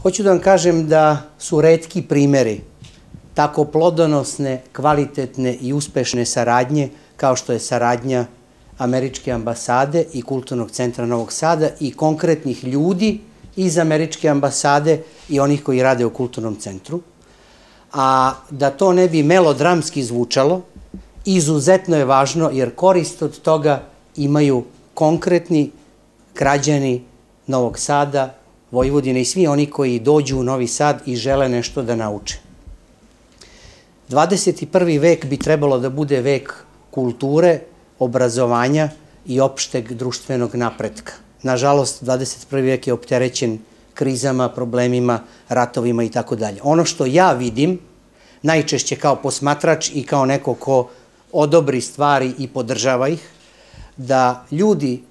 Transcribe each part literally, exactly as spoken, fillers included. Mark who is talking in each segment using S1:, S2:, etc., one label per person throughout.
S1: Hoću da vam kažem da su retki primeri tako plodonosne, kvalitetne i uspešne saradnje kao što je saradnja Američke ambasade i Kulturnog centra Novog Sada i konkretnih ljudi iz Američke ambasade i onih koji rade u Kulturnom centru. A da to ne bi melodramski zvučalo, izuzetno je važno jer korist od toga imaju konkretni građani Novog Sada, Vojvodine i svi oni koji dođu u Novi Sad i žele nešto da nauče. dvadeset prvi vek bi trebalo da bude vek kulture, obrazovanja i opšteg društvenog napretka. Nažalost, dvadeset prvi vek je opterećen krizama, problemima, ratovima i tako dalje. Ono što ja vidim, najčešće kao posmatrač i kao neko ko odobri stvari i podržava ih, da ljudi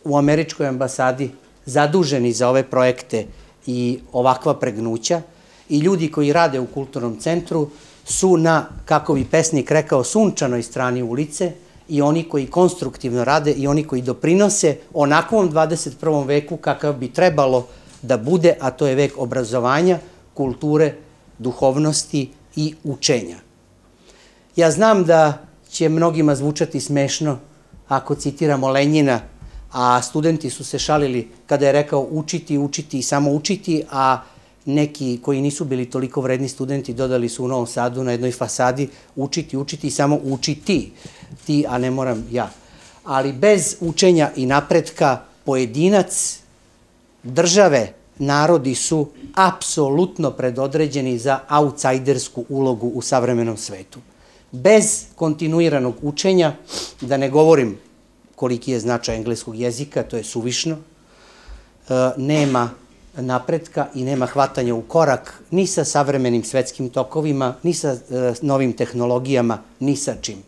S1: u Američkoj ambasadi zaduženi za ove projekte i ovakva pregnuća i ljudi koji rade u Kulturnom centru su na, kako bi pesnik rekao, sunčanoj strani ulice i oni koji konstruktivno rade i oni koji doprinose onakvom dvadeset prvom veku kakav bi trebalo da bude, a to je vek obrazovanja, kulture, duhovnosti i učenja. Ja znam da će mnogima zvučati smešno ako citiramo Lenjina, a studenti su se šalili kada je rekao učiti, učiti i samo učiti, a neki koji nisu bili toliko vredni studenti dodali su u Novom Sadu na jednoj fasadi učiti, učiti i samo učiti. Ti, a ne moram ja. Ali bez učenja i napretka pojedinac, države, narodi su apsolutno predodređeni za outsajdersku ulogu u savremenom svetu. Bez kontinuiranog učenja, da ne govorim koliki je značaj engleskog jezika, to je suvišno, nema napretka i nema hvatanja u korak ni sa savremenim svetskim tokovima, ni sa novim tehnologijama, ni sa čim.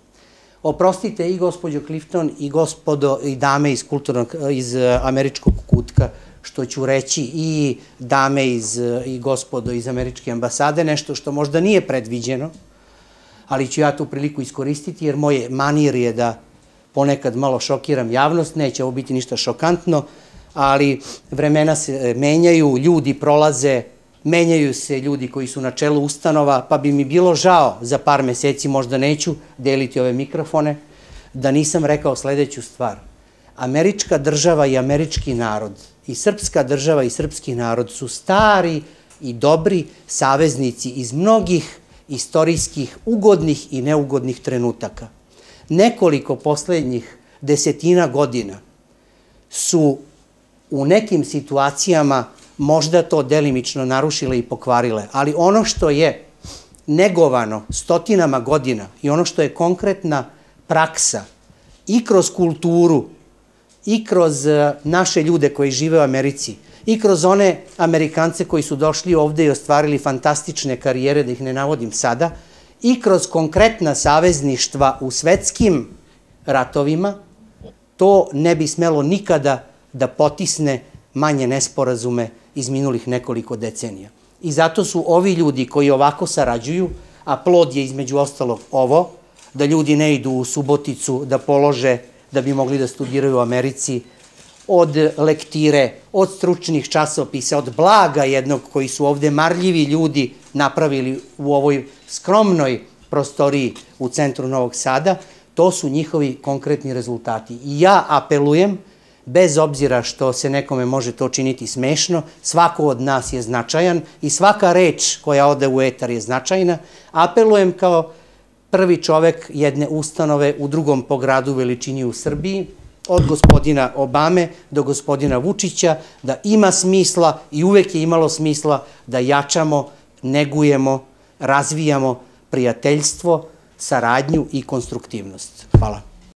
S1: Oprostite i gospođo Clifton i gospodo i dame iz kulturnog, iz američkog kutka, što ću reći i dame iz, i gospodo iz Američke ambasade, nešto što možda nije predviđeno, ali ću ja tu priliku iskoristiti jer moje manir je da ponekad malo šokiram javnost, neće ovo biti ništa šokantno, ali vremena se menjaju, ljudi prolaze, menjaju se ljudi koji su na čelu ustanova, pa bi mi bilo žao za par meseci, možda neću deliti ove mikrofone, da nisam rekao sledeću stvar. Američka država i američki narod i srpska država i srpski narod su stari i dobri saveznici iz mnogih istorijskih ugodnih i neugodnih trenutaka. Nekoliko poslednjih desetina godina su u nekim situacijama možda to delimično narušile i pokvarile, ali ono što je negovano stotinama godina i ono što je konkretna praksa i kroz kulturu i kroz naše ljude koji žive u Americi i kroz one Amerikance koji su došli ovde i ostvarili fantastične karijere, da ih ne navodim sada, i kroz konkretna savezništva u svetskim ratovima, to ne bi smelo nikada da potisne manje nesporazume iz minulih nekoliko decenija. I zato su ovi ljudi koji ovako sarađuju, a plod je između ostalog ovo, da ljudi ne idu u Suboticu da polože, da bi mogli da studiraju u Americi, od lektire, od stručnih časopisa, od blaga jednog koji su ovde marljivi ljudi napravili u ovoj skromnoj prostoriji u centru Novog Sada, to su njihovi konkretni rezultati. I ja apelujem, bez obzira što se nekome može to činiti smešno, svako od nas je značajan i svaka reč koja ode u etar je značajna, apelujem kao prvi čovek jedne ustanove u drugom po gradu veličini u Srbiji, od gospodina Obame do gospodina Vučića, da ima smisla i uvek je imalo smisla da jačamo, negujemo, razvijamo prijateljstvo, saradnju i konstruktivnost. Hvala.